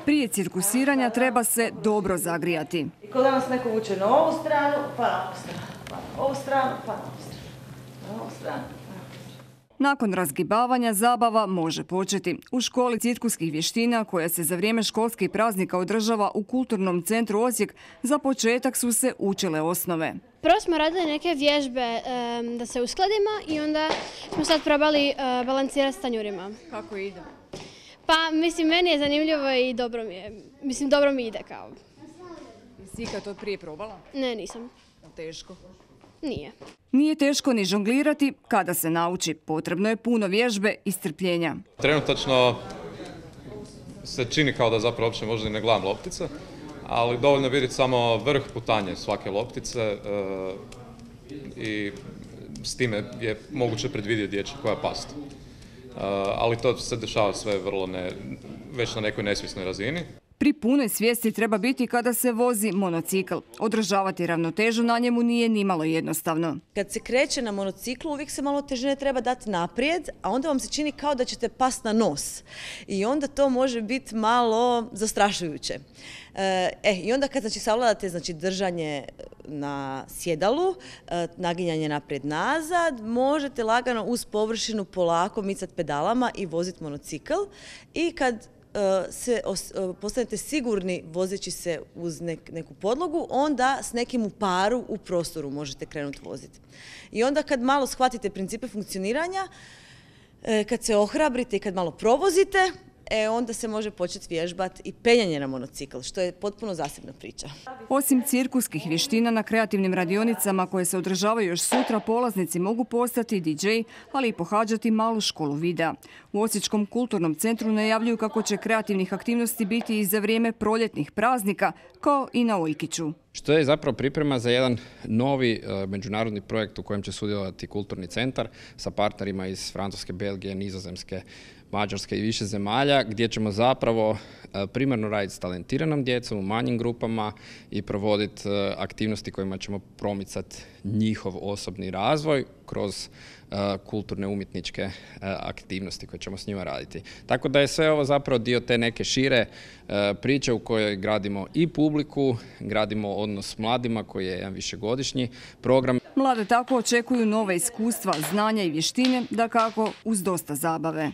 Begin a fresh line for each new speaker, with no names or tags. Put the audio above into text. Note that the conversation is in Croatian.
Prije cirkusiranja treba se dobro zagrijati.
I kada nas neko vuče na ovu stranu, pa na ovu stranu, pa na ovu stranu, pa na ovu stranu, na ovu stranu.
Nakon razgibavanja zabava može početi. U školi cirkuskih vještina, koja se za vrijeme školskih praznika održava u Kulturnom centru Osijek, za početak su se učile osnove.
Prvo smo radili neke vježbe da se uskladimo i onda smo sad probali balansirati s tanjurima.
Kako ide?
Pa mislim, meni je zanimljivo i dobro mi je. Mislim, dobro mi ide kao.
Jesi ikad to prije probala?
Ne, nisam.
Teško.
Nije.
Nije teško ni žonglirati kada se nauči. Potrebno je puno vježbe i strpljenja.
Trenutačno se čini kao da zapravo uopće možda i ne gledam loptice, ali dovoljno vidjeti samo vrh putanje svake loptice i s time je moguće predvidjeti gdje će koja pasti. Ali to se dešava sve već na nekoj nesvjesnoj razini.
Pri punoj svijesti treba biti kada se vozi monocikl. Održavati ravnotežu na njemu nije nimalo jednostavno.
Kad se kreće na monociklu, uvijek se malo težine treba dati naprijed, a onda vam se čini kao da ćete pasti na nos. I onda to može biti malo zastrašujuće. I onda kad savladate držanje na sjedalu, naginjanje naprijed-nazad, možete lagano uz površinu polako micati pedalama i voziti monocikl. I kad postanete sigurni vozeći se uz neku podlogu, onda s nekim u paru u prostoru možete krenuti voziti. I onda kad malo shvatite principe funkcioniranja, kad se ohrabrite i kad malo provozite, onda se može početi vježbati i penjanje na monocikl, što je potpuno zasebna priča.
Osim cirkuskih vještina, na kreativnim radionicama koje se održavaju još sutra, polaznici mogu postati DJ, ali i pohađati malu školu videa. U Osječkom kulturnom centru najavljuju kako će kreativnih aktivnosti biti i za vrijeme proljetnih praznika, kao i na Oljkiću.
Što je zapravo priprema za jedan novi međunarodni projekt u kojem će sudjelovati Kulturni centar sa partnerima iz Francuske, Belgije, Nizozemske, Mađarske i više zemalja, gdje ćemo zapravo primarno raditi s talentiranom djecom u manjim grupama i provoditi aktivnosti kojima ćemo promicati njihov osobni razvoj kroz kulturne umjetničke aktivnosti koje ćemo s njima raditi. Tako da je sve ovo zapravo dio te neke šire priče u kojoj gradimo i publiku, gradimo odnos s mladima koji je jedan višegodišnji program.
Mlade tako očekuju nove iskustva, znanja i vještine, dakako uz dosta zabave.